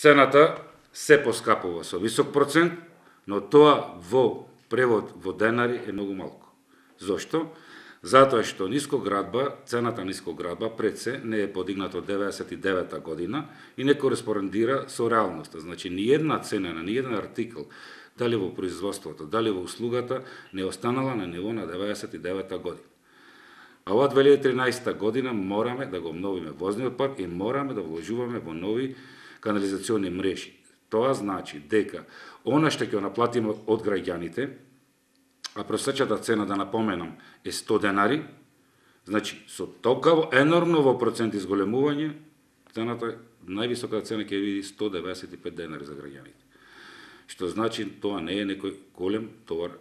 Цената се поскапува со висок процент, но тоа во превод во денари е многу малку. Зошто? Затоа што нискоградба, цената нискоградба пред се не е подигната од 99 година и не кореспондира со реалноста. Значи, ниедна цена на ниеден артикл, дали во производството, дали во услугата, не останала на ниво на 99 година. А ова 2013 година мораме да го обновиме возниот парк и мораме да вложуваме во нови канализационни мрежи. Тоа значи дека она што ќе наплатиме од граѓаните, а просечната цена, да напоменам, е 100 денари, значи со толкаво енормно во процент изголемување, цената, највисоката цена ќе види 195 денари за граѓаните. Што значи тоа не е некој голем товар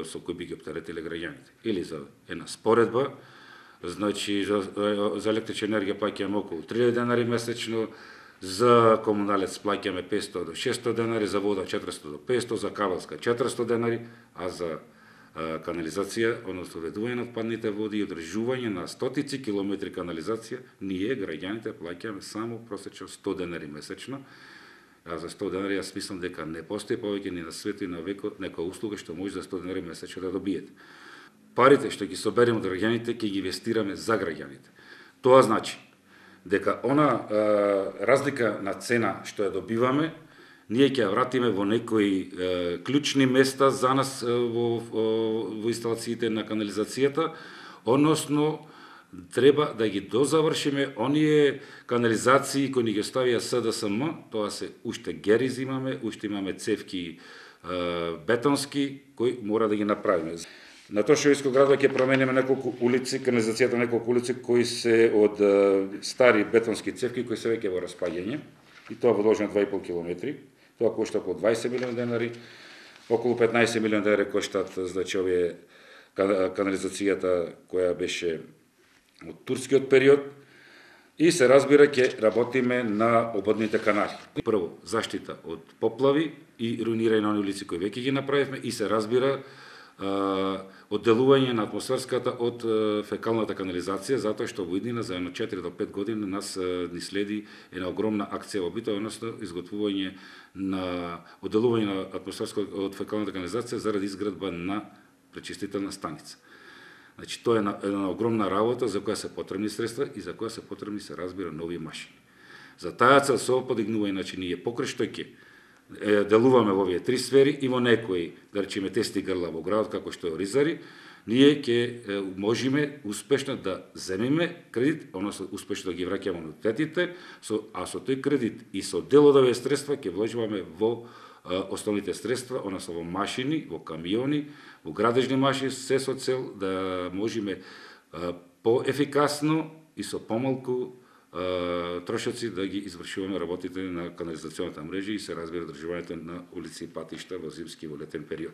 со кој би ги оптеретиле граѓаните. Или за една споредба, значи за електрична енергија плаќаме околу 3000 денари месечно, за комуналец плаќаме 500 до 600 денари, за вода 400 до 500, за кабелска 400 денари, а за канализација, односно ведување на отпадните води и одржување на стотици километри канализација, ние граѓаните плаќаме само просечно 100 денари месечно. А за 100 денари јас мислам дека не постои повеќе ни на светот и на векот некоја услуга што може за 100 денари месечно да добиете. Парите што ги собереме од граѓаните ќе ги инвестираме за граѓаните. Тоа значи дека она разлика на цена што ја добиваме, ние ќе ја вратиме во некои клучни места за нас во инсталациите на канализацијата, односно треба да ги дозавршиме оние канализации кои ни ги оставија СДСМ, тоа се уште герез имаме, уште имаме цевки бетонски кои мора да ги направиме. На Тошевиско градо ќе промениме неколку улици, канализацијата на неколку улици кои се од стари бетонски цевки кои се веќе во распаѓање, и тоа во должина 2,5 километри. Тоа кошта околу 20 милиони денари, околу 15 милиони денари коштат, значи, овие канализацијата која беше од турскиот период, и се разбира ќе работиме на ободните канали. Прво, заштита од поплави и руинирање на оние улици кои веќе ги направивме, и се разбира одделување на атмосферската од фекалната канализација, затоа што во иднина за 4 до 5 години нас ни следи една огромна акција во Битола, односно изготвување на одделување на атмосферската од фекалната канализација заради изградба на пречистителна станица. Значи, тоа е една огромна работа за која се потребни средства и за која се потребни, се разбира, нови машини. За таа цел со подигнување, значи, ние покрај што ќе делуваме во овие три сфери и во некои, да речеме, тести грла во градот, како што е Оризари, ние ќе можеме успешно да земеме кредит, односно успешно да ги враќаме ануитетите, а со тој кредит и со дел од овие средства ќе вложуваме во основните средства, односно во машини, во камиони, во градежни машини, се со цел да можеме поефикасно и со помалку трошоци да ги извршуваме работите на канализационната мрежа и се разбира одржувањето на улици и патишта во зимски и во летен период.